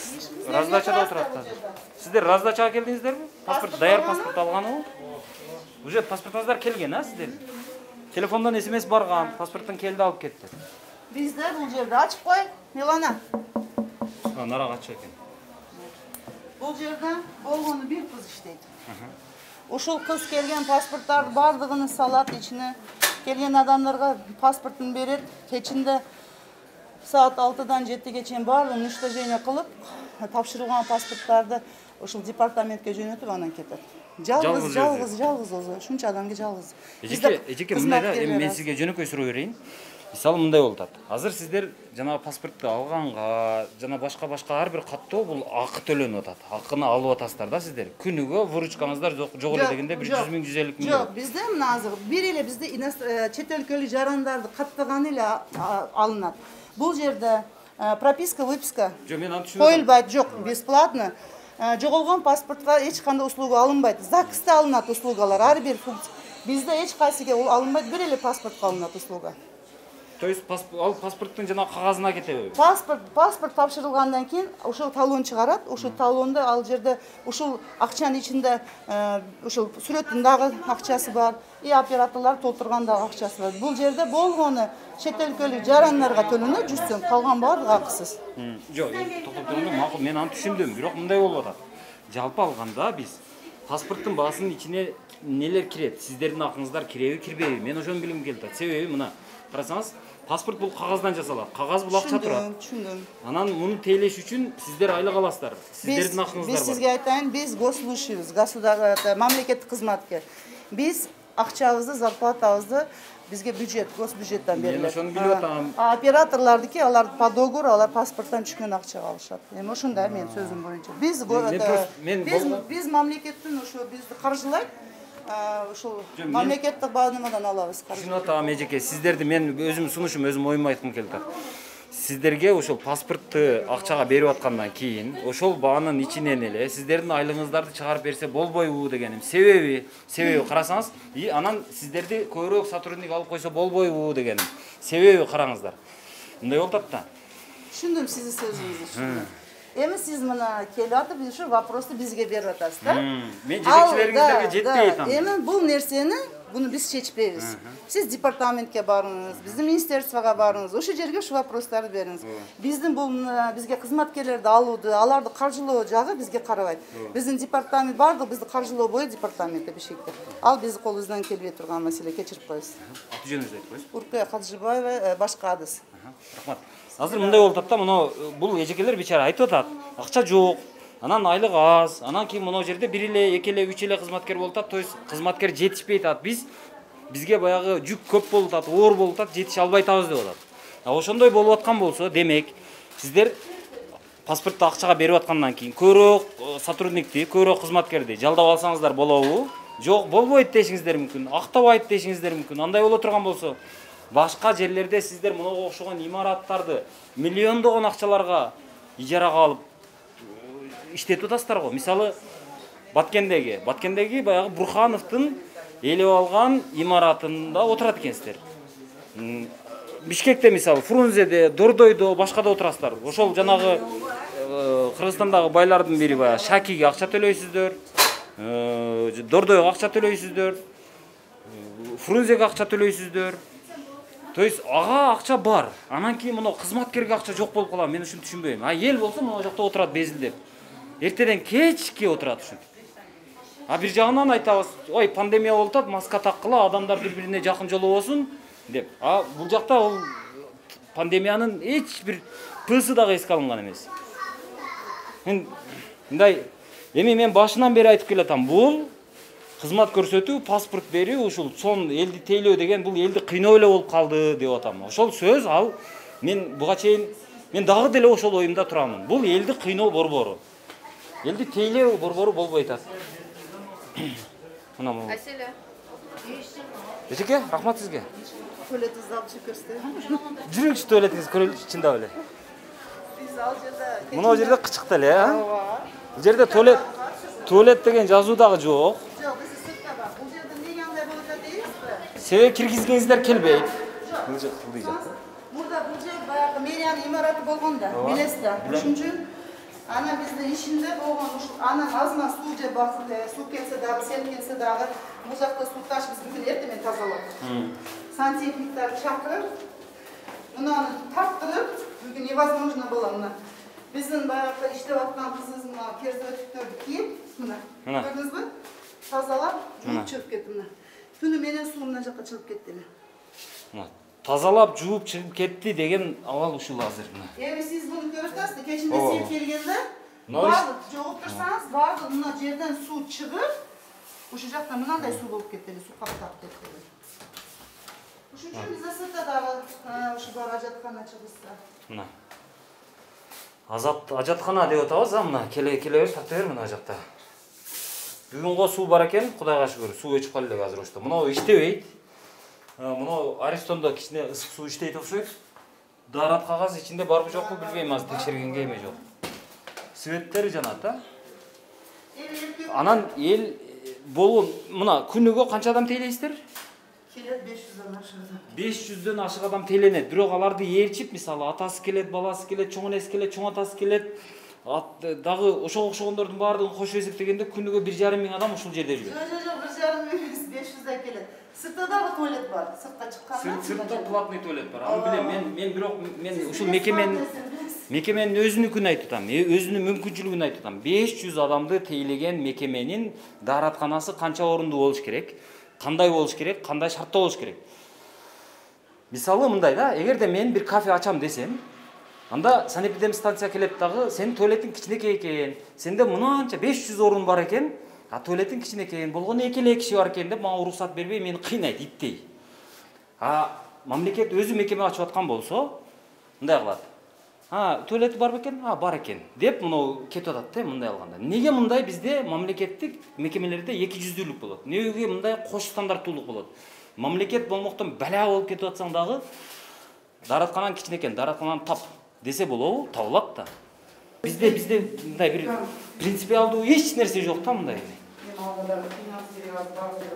раздачада отурат азыр. Сиздер раздачага келдиңиздерби? Паспорт даяр паспорт алганыбы? Уже паспортуңуздар келген, а сиздер? Телефондон смс барган, паспорттун келди алып кетти. Бизде бул жерде ачып кой, Милана. А, нарага ачык экен. Бул жерде болгону бир кыз иштейт. Ушул кыз келген паспорттарды бардыгын салат ичине. Келген адамдарга паспортун берет. Кечинде саат алтыдан жетиге чейин баардыгын уничтожение кылып, тапшырылган паспорттарды ушул департаментке жөнөтүп анан кетет. Жалгыз, жалгыз, жалгыз өзү. Ушунча адамга жалгыз. Эжеке, эжеке мындай да, эми мен сизге жөнөкөй суроо берейин. Мисалы мындай болуп атат. Азыр сиздер жана паспортту алганга, жана башка-башка ар бир каттоо бул акы төлөнүп атат. Акыны алып атасыздар да сиздер. Күнүгө выручкаңыздар жок эле дегенде бир жүз миң, жүз элүү миң. Жок, бизде мына азыр бир эле бизде чет өлкөлүк жарандарды каттаганы эле алынат. Бул жерде прописка, выписка коюлбайт, жок, бесплатно. Жоголгон паспортко эч кандай услуга алынбайт. ЗАГСта алынат услугалар, ар бир функция. Бизде эч кайсыга алынбайт, бир эле паспортко алынат услуга. То есть ал паспорттун жана кагазына кетеби? Паспорт, паспорт тапшырылгандан кийин ошол талон чыгарат. Ошол талондо ал жерде ушул акчанын ичинде ушул сүрөттүн дагы акчасы бар, и операторлор толтурган дагы акчасы бар. Бул жерде болгону чет өлкөлүк жарандарга төлөнөт жүз сом, калган баардыгы акысыз. Жок, токтоп турганда макул, мен аны түшүндүм, бирок мындай болуп атат. Жалпы алганда биз паспорттун баасынын ичине нелер кирет? Сиздердин акыңыздар киреби, кирбейби? Мен ошону билгим келип атат. Себеби мына, карасаңыз, паспорт бул кагаздан жасалат. Кагаз бул акча турат. Түшүндүм. Анан муну тейлеш үчүн сиздер айлык аласыздар. Сиздердин акыңыздар бар. Биз сизге айтайын, биз госслужащийбиз, государственный мамлекеттик кызматкер. Биз акчабызды, зарплатабызды бизге бюджет, госбюджеттен берилет. Мен ошону билип атам. А операторлардыкы алар по договору, алар паспорттан түшкөн акчага алышат. Эми ошондой мен сөзүм боюнча. Биз биз биз мамлекеттин ошо бизди каржылайт. Ушул мамлекеттик баанымадан алабыз. Түшүнүп атам, эжеке, сиздерди мен өзүм сунушум, өзүм оюмду айткым келип атат. Сиздерге ошол паспортту акчага берип аткандан кийин, ошол баанын ичинен эле сиздердин айлыгыңыздарды чыгарып берсе болбойбу дегеним. Себеби, себеби карасаңыз, и анан сиздерди көбүрөөк сотрудник алып койсо болбойбу дегеним. Себеби караңыздар. Мындай болуп атат да. Түшүндүм сиздин сөзүңүздү, түшүндүм. Эми сиз мына келип атып, ушу вопросту бизге берип атасыз да? Мен жетекчилериңиздерге жетпей атам. Эми бул нерсени буну биз чечпейбиз. Сиз департаментке барыңыз, биздин министерствого барыңыз, ошол жерге ушу вопростарды бериңиз. Биздин бул бизге кызматкерлерди алууду, аларды каржылоо жагы бизге карабайт. Биздин департамент бардык бизди каржылоо бою департаментте Бишкекте. Ал биздин колубуздан келбей турган маселе, кечирип коесуз. Аты жөнүңүздү айтып коесуз. Уркуя Кадыжыбаева, башка адыс. Рахмат. Азыр мындай болуп атат да, мына бул эжекелер бечара айтып атат. Акча жок, анан айлык аз, анан кийин мына жерде бир эле, эки эле, үч эле кызматкер болуп атат. То есть кызматкер жетишпей атат. Биз бизге баягы жүк көп болуп атат, оор болуп атат, жетише албай атабыз деп атат. А ошондой болуп аткан болсо, демек сиздер паспортту акчага берип аткандан кийин көбүрөөк сотрудникти, көбүрөөк кызматкерди жалдап алсаңыздар болобу? Жок, болбойт дешиңиздер мүмкүн, актабайт дешиңиздер мүмкүн. Андай боло турган болсо, башка жерлерде сиздер мынага окшогон имараттарды миллиондогон акчаларга ижарага алып иштетип атасыздар го. Мисалы, Баткендеги, Баткендеги баягы Бурхановдун элеп алган имаратында отурат экенсиздер. Бишкекте мисалы, Фрунзеде, Дордойдо, башкада отурасыздар. Ошол жанагы Кыргызстандагы байлардын бири баягы Шакиге акча төлөйсүздөр, Дордойго акча төлөйсүздөр, Фрунзеге акча төлөйсүздөр. То есть ага акча бар. Анан кийин мына кызматкерге акча жок болуп калат. Мен ушуну түшүнбөйм. А эл болсо мына жакта отурат безилдеп. Эртеден кечке отурат ушинтип. А бир жагынан айтабыз, ой, пандемия болуп атат, маска таккыла, адамдар бири-бирине жакын жолобосун деп. А бул жакта ол пандемиянын эч бир пысы дагы эске алынган эмес. Мен мындай, эми мен башынан бери айтып келатам, бул кызмат көрсөтүү, паспорт берүү, ушул сон элди тейлөө деген бул элди кыйноо эле болуп калды деп атам. Ошол сөз ал мен буга чейин мен дагы деле ошол оюмда турамын. Бул элди кыйноо борбору. Элди тейлөө борбору болбой атат. Мына бул. Аселе. Эжеке, рахмат сизге. Туалетіңізді алып жүріп көрсетейін. Жүріңізші туалетіңіз көрелікші чындап эле. Биз ал жерде Мына жерде кычыкты эле, а? Бул жерде туалет туалет деген жазуу дагы жок. Жок, биз сыртта бар. Бул жерде эмнеге андай болуп атат дейсизби? Себеби киргизгениңиздер келбейт. Бул жак кылдый жак. Мурда бул жер баягы мэриянын имараты болгон да, билесиз да. Ошон үчүн анан биздин ишинде болгон ушул анан азма суу же суу келсе дагы, сел келсе дагы бул жакта суу таш биз бүгүн эртең тазалап. Сантехниктарды чакырып, мынаны тарттырып, бүгүн невозможно было мына. Биздин баягы иштеп аткан кызыбыз мына перзенттерди кийип, мына. Көрдүңүзбү? Тазалап, жууп чыгып кетти мына. Түнү менен суу мына жакка чыгып кетти эле. Мына тазалап жууп чыгып кетти деген абал ушул азыр мына. Эми сиз буну көрүп атасызбы? Кечинде сел келгенде, баардык жогуп турсаңыз, баардык мына жерден суу чыгып, ушул жакта мынандай суу болуп кетти эле, суу каптап кетти. Ушун үчүн бизде сыртта дагы ушу бар ажаткана чыгышса. Мына. Азат ажаткана деп атабыз, а мына келе келе бер, тарта бер мына жакта. Бүгүнгө суу бар экен, Кудайга шүгүр, суу өчүп калды эле азыр ошто. Мына иштебейт. Мына Аристонда кичине ысык суу иштейт окшойт. Дарат кагаз ичинде барбы жокпу билбейм, азыр текшергенге эме жок. Светтери жанат, а? Анан эл болгон мына күнүгө канча адам тейлейсиздер? Келет беш жүздөн ашык. беш жүздөн ашык адам тейленет. Бирок аларды ээрчип, мисалы атасы келет, баласы келет, чоң энеси келет, чоң атасы келет. Дагы ошого окшогондордун баардыгын кошуп эсептегенде күнүгө бир жарым миң адам ушул жерде жүрөт. Жок, жок, жок, бир жарым миң эмес, беш жүздөй келет. Сыртта дагы туалет бар. Сыртка чыкканда. Сыртта платный туалет бар. Аны билем, мен мен бирок мен ушул мекеменин мекеменин өзүнүкүн айтып атам, өзүнүн мүмкүнчүлүгүн айтып атам. беш жүз адамды тейлеген мекеменин дааратканасы канча орундуу болуш керек? Кандай болуш керек? Кандай шартта болуш керек? Мисалы мындай да, эгерде мен бир кафе ачам десем, анда санэпидемстанция келет дагы, сенин туалетиң кичинекей экен, сенде мынанча беш жүз орун бар экен, а туалетиң кичинекей, болгону эки эле киши бар экен деп мага уруксат бербей, мени кыйнайт, иттей. А мамлекет өзү мекеме ачып аткан болсо, мындай кылат. А, туалети бар бекен? А, бар экен. Деп мына кетип атат да мындай алганда. Неге мындай бизде мамлекеттик мекемелерде эки жүздүүлүк болот? Неге мындай кош стандарттуулук болот? Мамлекет болмоктон бала болуп кетип атсаң дагы дааратканан кичинекей, дааратканан тап десе болобу? Табылат да. Бизде бизде мындай бир принципиалдуу эч нерсе жок да мындай.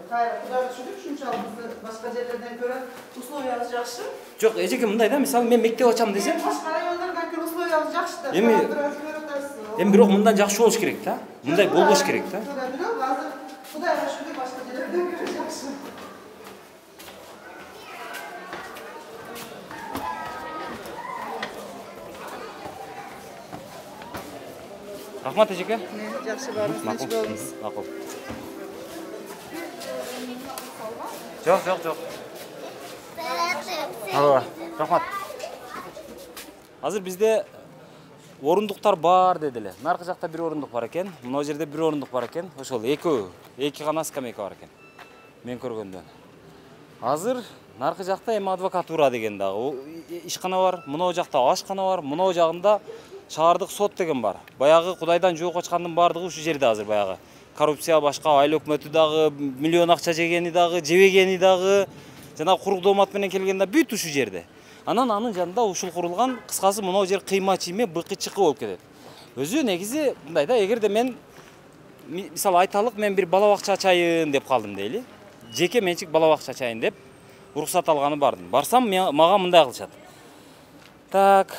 Кайра Кудайга шүгүр, ушунчалык бизде башка жерлерден көрө условиябыз жакшы. Жок, эжеке мындай да, мисалы мен мектеп ачам десем, башка райондордон көрө условиябыз жакшы да. Эми эми бирок мындан жакшы болуш керек да. Мындай болбош керек да. Бирок азыр Кудайга шүгүр башка жерлерден көрө жакшы. Рахмат эжеке. Жакшы барыңыз, тынч болуңуз. Макул. Жок, жок, жок. Алла, рахмат. Азыр бизде орундуктар бар деди эле. Наркы жакта бир орундук бар экен, мына жерде бир орундук бар экен. Ошол экөө, эки гана скамейка бар экен. Мен көргөндөн. Азыр наркы жакта эми адвокатура деген дагы ишкана бар, мына жакта ашкана бар, мына жагында шаардык сот деген бар. Баягы Кудайдан жоо качкандын баардыгы ушу жерде азыр баягы. Коррупция башка, айыл өкмөтү дагы, миллион акча жегени дагы, жебегени дагы, жана курук доомат менен келгенде бүт ушу жерде. Анан анын жанында ушул курулган, кыскасы мына жер кыйма чийме, быкы чыкы болуп кетет. Өзү негизи мындай да, эгерде мен мисалы айталык мен бир бала бакча ачайын деп калдым дейли. Жеке менчик бала бакча ачайын деп уруксат алганы бардым. Барсам мага мындай кылышат. Так,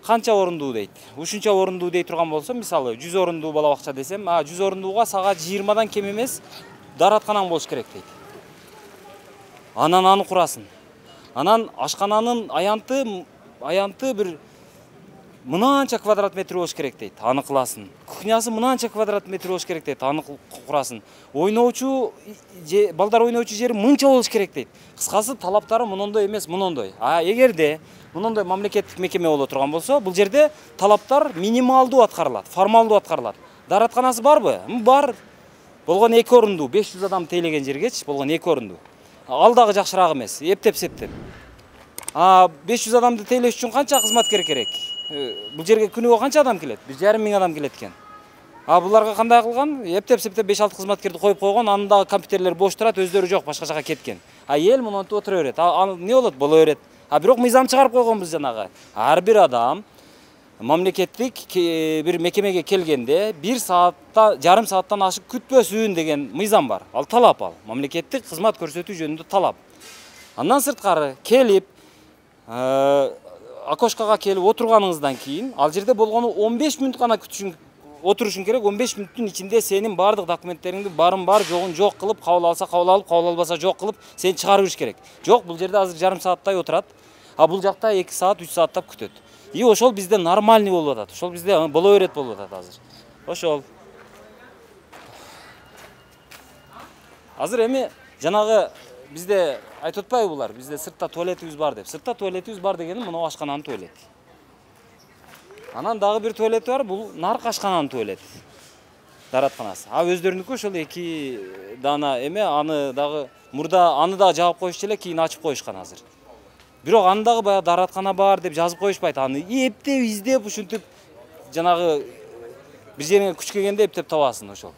канча орундуу дейт. Ушунча орундуу дей турган болсо, мисалы жүз орундуу бала бакча десем, а жүз орундууга сага жыйырмадан кем эмес дааратканаң болуш керек дейт. Анан аны курасың. Анан ашкананын аянты аянты бир мынанча квадрат метр болуш керек дейт, аны кыласын. Кухнясы мынанча квадрат метр болуш керек дейт, аны курасын. Ойноочу балдар ойноочу жери мынча болуш керек дейт. Кыскасы талаптары мындай эмес, мындай. А эгерде мындай мамлекеттик мекеме боло турган болсо, бул жерде талаптар минималдуу аткарылат, формалдуу аткарылат. Дааратканасы барбы? Бар. Болгон эки орундуу, беш жүз адам тейлеген жергечи болгон эки орундуу. Ал дагы жакшыраак эмес, эптеп-септеп. А беш жүз адамды тейлеш үчүн канча кызматкер керек? Бул жерге күнүгө канча адам келет? бир жарым миң адам келет экен. А буларга кандай кылган? Эптеп-септеп беш алты кызматкерди коюп койгон, анын дагы компьютерлери бош турат, өздөрү жок, башка жака кеткен. А эл монтип отура берет. А эмне болот? Боло берет. А бирок мыйзам чыгарып койгонбуз жанагы. Ар бир адам мамлекеттик бир мекемеге келгенде бир саатта, жарым сааттан ашык күтпөсүн деген мыйзам бар. Ал талап ал. Мамлекеттик кызмат көрсөтүү жөнүндө талап. Андан сырткары келип, окошкага келип отурганыңыздан кийин, ал жерде болгону он беш мүнөт гана күтүшүң, отурушуң керек. он беш мүнөттүн ичинде сенин бардык документтериңди барын бар, жогун жок кылып, кабыл алса кабыл алып, кабыл албаса жок кылып, сени чыгарып бериш керек. Жок, бул жерде азыр жарым сааттай отурат, а бул жакта эки саат, үч сааттап күтөт. И ошол бизде нормальный болуп атат. Ошол бизде боло берет болуп атат азыр. Ошол. Азыр эми жанагы бизде айтып атпайбы булар? Бизде сыртта туалетибиз бар деп. Сыртта туалетибиз бар дегени мына ашкананын туалети. Анан дагы бир туалети бар, бул наркы ашкананын туалети. Дааратканасы. А өздөрүнүкү ошол эки дана эме, аны дагы мурда аны дагы жаап коюшчу эле, кийин ачып коюшкан азыр. Бирок аны дагы баягы даараткана бар деп жазып коюшпайт. Аны эптеп, издеп, ушинтип жанагы бир жериңе күч келгенде эптеп табасың ошол.